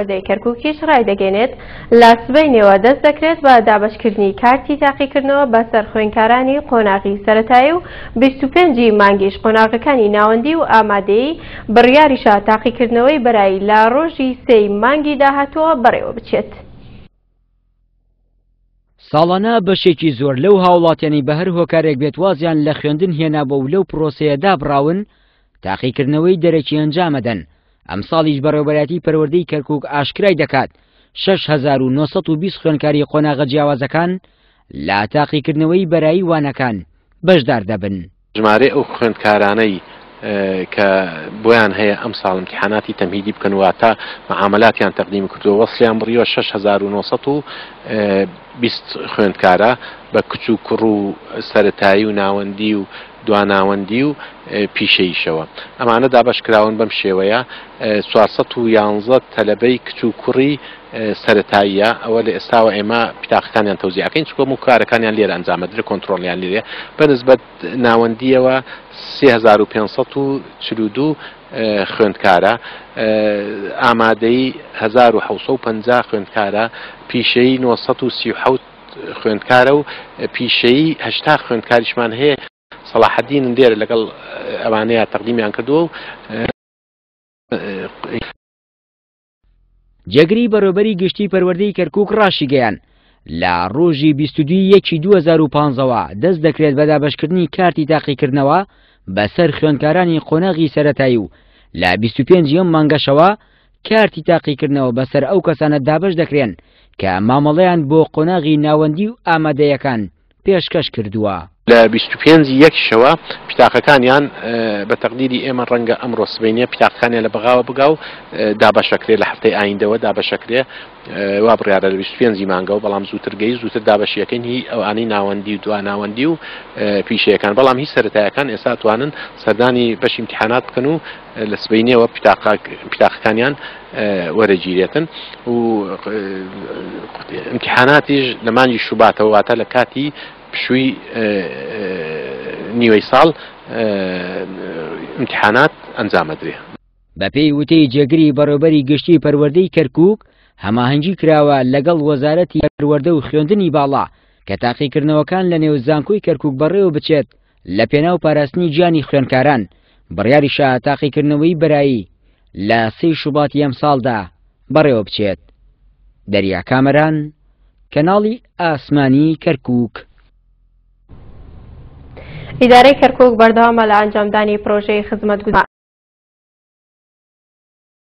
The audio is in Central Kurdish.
پەروەردەی کەرکوکیش ڕایدەگەینێت، لە سبەینێوە دەست دەکرێت بە دابەشکردنی کارتی تاقیکردنەوە بەسەر خوێندکارانی قۆناغی سەرەتایی و 25 ی مانگیش قۆناغەکانی ناوەندی و ئامادەیی، بڕیاریشە تاقیکردنەوەی بەرایی لە ڕۆژی سێی مانگی داهاتووە بەڕێوەبچێت. ساڵانە بەشێکی زۆر لەو هاوڵاتیانەی بە هەر هۆکارێک بێت وازیان لە خوێندن هێنابووە و لەو پرۆسەیە دابڕاون، تاقیکردنەوەی دەرەکی ئەنجامەدەن، ئەمساڵیش بەڕێوەبەرایەتی پەروەردەی کەرکوک ئاشکرای دەکات 6920 خوێندکاری قۆناغە جیاوازەکان لە تاقیکردنەوەی بەرایی وانەکان بەشدار دەبن. ژمارەی ئەو خوێندکارانەی کە بۆیان هەیە ئەمساڵ ئیمتیحاناتی تەمهیدی بکەن واتە معاملاتیان تەقدیم کردووە وەسڵیان بڕیوە 6920 خوێندکارە بە کچ و کوڕ و سەرەتایی و ناوەندی و دواناوەندی و پیشەییشەوە. ئەمانە دابەشکراون بەم شێوەیە، 411 تەلەبەی کچ و کوڕی سەرەتاییە، ئەوە لە ئێستاوە ئێمە پیتاقەکانیان تەوزیع ئەکەین، چونکە هەموو کارەکانیان لێرە ئەنجام ئەدرێت، کۆنترۆڵیان لێرەیە. بە نسبەت ناوەندییەوە 3542 خوێندکارە، ئامادەیی 1750 خوێندکارە، پیشەیی 937 خوێندکارە و پیشەیی 80 خوێندکاریشمان هەیە. سەڵاحەدینن لێرە لەگەڵ ئەوانەیە تەقدیمیان کردووە و جێگری بەڕێوبەری گشتی پەروەردەی کەرکوک ڕاشیگەیان لە ڕۆژی 22 یەکی 2015ەوە دەست دەکرێت بە دابەشکردنی کارتی تاقیکردنەوە بەسەر خوێندکارانی قۆناغی سەرەتایی و لە 25 ئەم مانگەشەوە کارتی تاقیکردنەوە بەسەر ئەو کەسانە دابەش دەکرێن کە مامەڵەیان بۆ قۆناغی ناوەندی و ئامادەیەکان پێشکەش کردووە. لە 25 ی یەکیشەوە پیتاقەکانیان بە تەقدیری ئێمە ڕەنگە ئەمڕۆ سبەینێ پیتاقەکانیان لە بەغاوە بگا و دابەشەکرێ لە هەفتەی ئایندەوە دابەشەکرێ وا بڕیارە لە 25 ی مانگەوە بەڵام زووتر گەی زووتر دابەشیەکەین هی ئەوانەی ناوەندی و دوا ناوەندی و پیشەیەکان بەڵام هی سەرەتایەکان ئێستا توانن سەردانی بەشی امتحانات بکەن و لە سبەینێوە پیتاقەکانیان وەرەگیرێتن و ئیمتیحاناتیش لە مانگی شوباتەوە واتە لە کاتی پشووی نیوەی ساڵ ئیمتیحانات ئەنجامەدرێ. بەپێی وتەی جێگری بەڕێوبەری گشتی پەروەردەی کەرکوک، هەماهەنگی کراوە لەگەڵ وەزارەتی پەروەردە و خوێندنی باڵا کە تاقیکردنەوەکان لەنێو زانکۆی کەرکوک بەڕێوە بچێت لە پێناو پاراستنی گیانی خوێندکاران، بڕیاریشە تاقیکردنەوەی بەرایی لە سێی شوباتی ئەمساڵدا بەڕێوە بچێت. دەریا کامەران، کەناڵی ئاسمانی کەرکوک. ئیدارەی کەرکوک بەردەوامە لە ئەنجامدانی پرۆژەی خزمەتگوزاری.